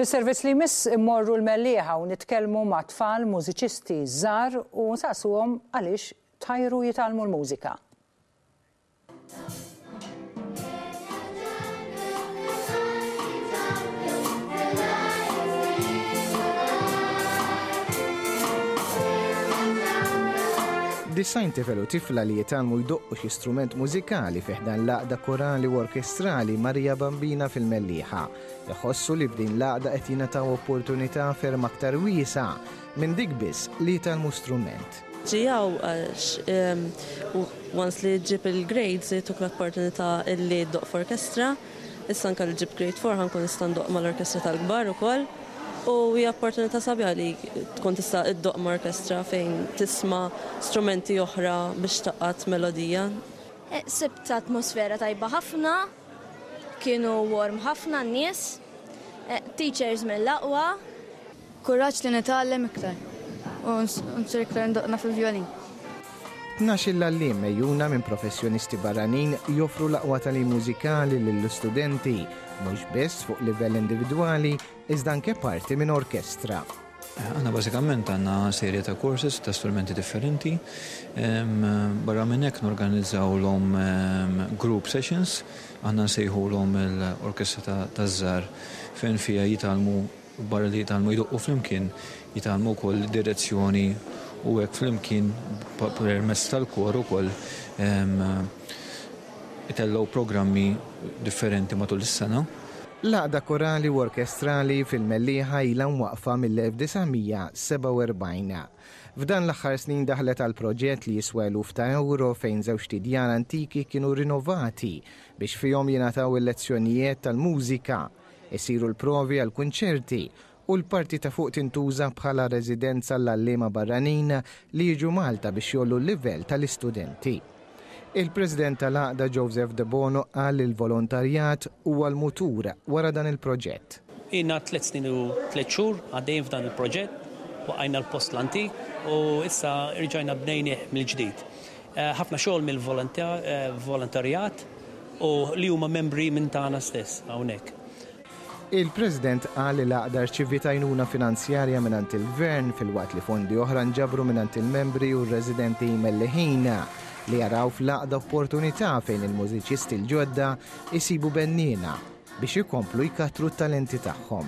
Fis-servizz li jmiss immorru l-Mellieħa u nitkellmu ma' tfal mużiċisti żgħar u nsaqsuhom għaliex tħajru jitgħallmu l-mużika. Disajn tifel u tifla li jitgħallmu jdoqqu xi strument mużikali fi ħdan l-Għaqda Korali u Orkestrali Maria Bambina fil-Mellieħa. Iħossu li f'din l-għaqda qed jingħataw opportunità ferm aktar wiesgħa minn dik biss li jitgħallmu strument. Ġie hawn għax once li ġġib il-grades jagħtuk l-opportunità li ddoqq f'orkestra. Issa anke li ġibt grade 4 ħa nkun nista' ndoqq mal-orkestra tal-kbar ukoll. U hija opportunità sabiħa li tkun tista' ddoqq ma' orkestra fejn tisma' strumenti oħra biex tgħaqqad melodija. Sibt atmosfera tajba ħafna, kienu warm ħafna n-nies, teachers mill-aqwa. Kuraġġ li nitgħallem iktar u nsir iktar ndoqqna fil-vjolin. 12-il għalliem megħjuna minn professjonisti barranin joffru l-aqwa tagħlim mużikali lill-istudenti, mhux biss fuq livell individwali iżda anke parti minn orkestra. Aħna bażikament għandna serje ta' courses ta' strumenti differenti. Barra minn hekk norganizzawlhom group sessions, aħna nsejħulhom l-orkestra taż-żgħar fejn fiha jitgħallmu barra li jitgħallmu jdoqqu flimkien, jitgħallmu wkoll direzzjoni u hekk flimkien permezz tal-kor ukoll itellgħu programmi differenti matul is-sena. L-Għaqda Korali u Orkestrali fil-Mellieħa ilha mwaqqfa mill-1947. F'dan l-aħħar snin daħlet għal proġett li jiswa eluf ta' ewro fejn żewġt idjar antiki kienu rinovati biex fihom jingħataw il-lezzjonijiet tal-mużika, isiru l-provi għall-kunċerti u l-parti ta' fuq tintuża bħala residenza għall-għalliema barranin li jiġu Malta biex jgħollu l-livell tal-istudenti. Il-President tal-Għaqda Joseph Debono qal li l-volontarjat huwa l-mutur wara dan il-proġett. Ilna tlett snin u tlett xhur għaddejjin f'dan il-proġett, waqqajna l-post l-antik u issa rġajna bnejnih mill-ġdid. Ħafna xogħol mill-volontarjat u li huma membri minn tagħna stess hawnhekk. Il-President qal li l-għaqda rċiviet għajnuna finanzjarja mingħand il-Gvern filwaqt li fondi oħra nġabru mingħand il-membri u r-residenti Melliħin li jaraw fl-għaqda opportunità fejn il-mużiċisti l-ġodda jsibu benniena biex ikomplu jkattru t-talenti tagħhom.